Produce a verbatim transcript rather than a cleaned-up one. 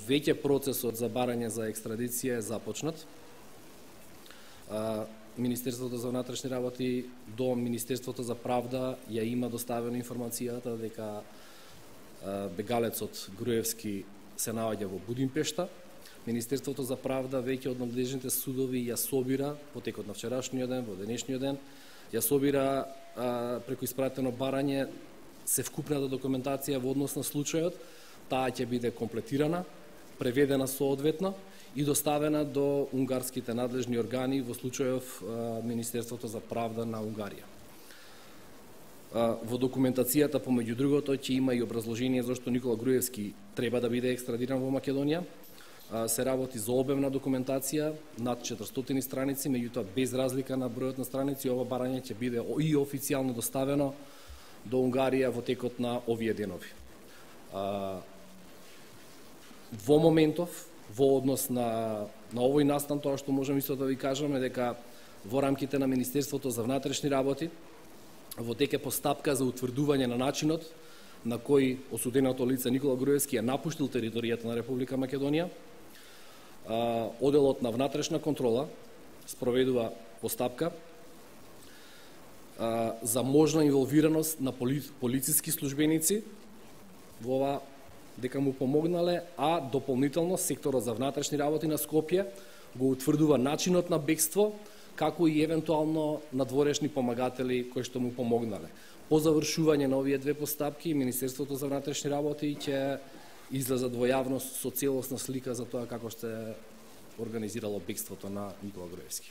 веќе процесот за барање за екстрадиција е започнат. Министерството за внатрешни работи до Министерството за правда ја има доставена информацијата дека бегалецот Груевски се наоѓа во Будимпешта. Министерството за правда веќе од надлежните судови ја собира во текот на вчерашниот ден, во денешниот ден, ја собира а, преку испратено барање се вкупната документација во однос на случајот. Таа ќе биде комплетирана, преведена соодветно и доставена до унгарските надлежни органи, во случајов а, Министерството за правда на Унгарија. А, во документацијата, помеѓу другото, ќе има и образложение зашто Никола Груевски треба да биде екстрадиран во Македонија. А, се работи за обемна документација, над четиристотини страници, меѓутоа без разлика на бројот на страници, ова барање ќе биде и официјално доставено до Унгарија во текот на овие денови. А, во моментов, во однос на, на овој настан, тоа што можем исто да ви кажеме дека во рамките на Министерството за внатрешни работи во тек е постапка за утврдување на начинот на кој осуденото лице Никола Груевски ја напуштил територијата на Република Македонија. А, Оделот на внатрешна контрола спроведува постапка а, за можна инволвираност на поли, полициски службеници во ова дека му помогнале, а дополнително секторот за внатрешни работи на Скопје го утврдува начинот на бегство, како и евентуално надворешни помагатели кои што му помогнале. По завршување на овие две постапки, Министерството за внатрешни работи ќе излезат во јавност со целосна слика за тоа како што е организирало бегството на Никола Груевски.